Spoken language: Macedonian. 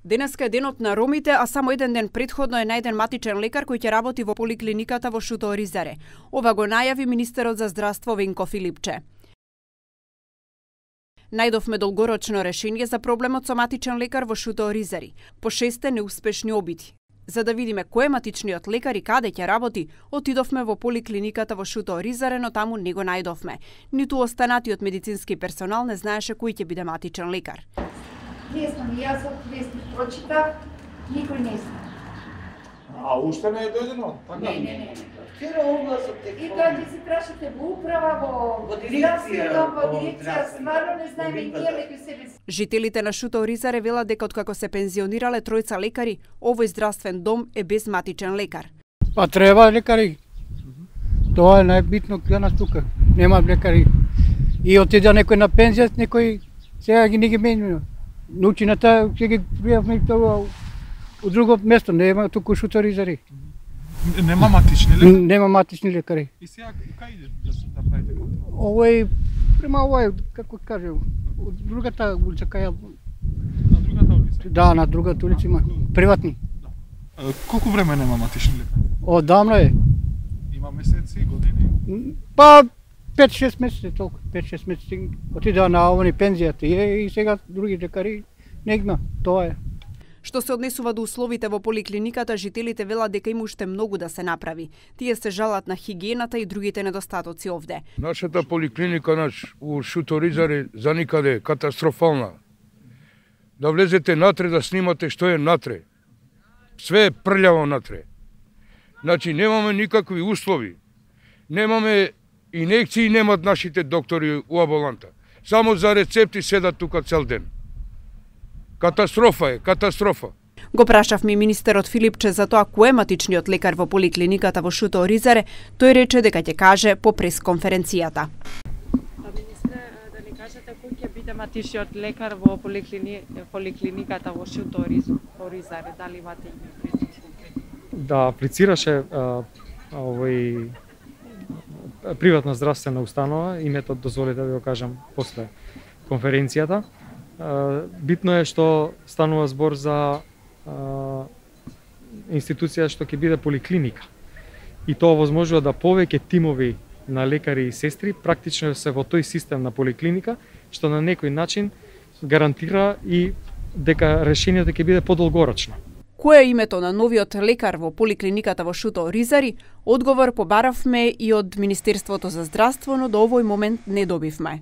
Денеска е денот на ромите, а само еден ден претходно е најден матичен лекар кој ќе работи во поликлиниката во Шуто Оризаре. Ова го најави министерот за здравство Венко Филипче. Најдовме долгорочно решение за проблемот со матичен лекар во Шуто Оризари, по 6 неуспешни обиди. За да видиме кој е матичниот лекар и каде ќе работи, отидовме во поликлиниката во Шуто Оризаре, но таму не го најдовме. Ниту останатиот медицински персонал не знаеше кој ќе биде матичен лекар. Не знам, јас од вестник прочитав, никој не знам. А уште не е дојдено? Не. Вчера огласот е. И тоа ќе се прашате во управа, во дирекција, стварно не знаеме и ние меѓу себе. Жителите на Шуто Оризаре велат дека откако се пензионирале тројца лекари, овој здравствен дом е без матичен лекар. Па треба лекари. Тоа е најбитно за нас тука. Нема лекари. И отиде некој на пензија, некој сега ги не ги менува. Научината ќе ги пријавме тоа у друго место, нема туку Шуто Оризари. Нема матични лекари? Нема матични лекари. И сега кај идеш да правите контрол? Овој, према овој, како кажем, од другата улица кај... На другата улица? Да, на другата улица има, приватни. Колку време нема матични лекари? Одамна е. Има месеци, години? Па 5-6 месеци толку, 5-6 месеци. Отидеа на овој пензијата и сега други лекари не има, тоа е. Што се однесува до условите во поликлиниката, жителите велат дека има уште многу да се направи. Тие се жалат на хигиената и другите недостатоци овде. Нашата поликлиника у Шуто Оризаре за никаде катастрофална. Да влезете натре да снимате што е натре. Све е прљаво натре. Значи немаме никакви услови. Немаме инекции, немат нашите доктори у амбуланта. Само за рецепти седат тука цел ден. Катастрофа е, катастрофа. Го прашавме министерот Филипче за тоа кој е матичниот лекар во поликлиниката во Шуто Оризаре, тој рече дека ќе каже по пресконференцијата. Министре, да ни кажете кој ќе биде матичниот лекар во поликлиниката во Шуто Оризаре, дали имате име? Да аплицираше овој приватна здравствена установа, името дозволите да го кажам после конференцијата. Битно е што станува збор за институција што ќе биде поликлиника. И тоа возможува да повеќе тимови на лекари и сестри практично се во тој систем на поликлиника, што на некој начин гарантира и дека решението ќе биде подолгорочно. Кој е името на новиот лекар во поликлиниката во Шуто Оризари? Одговор побаравме и од Министерството за здравство, но до овој момент не добивме.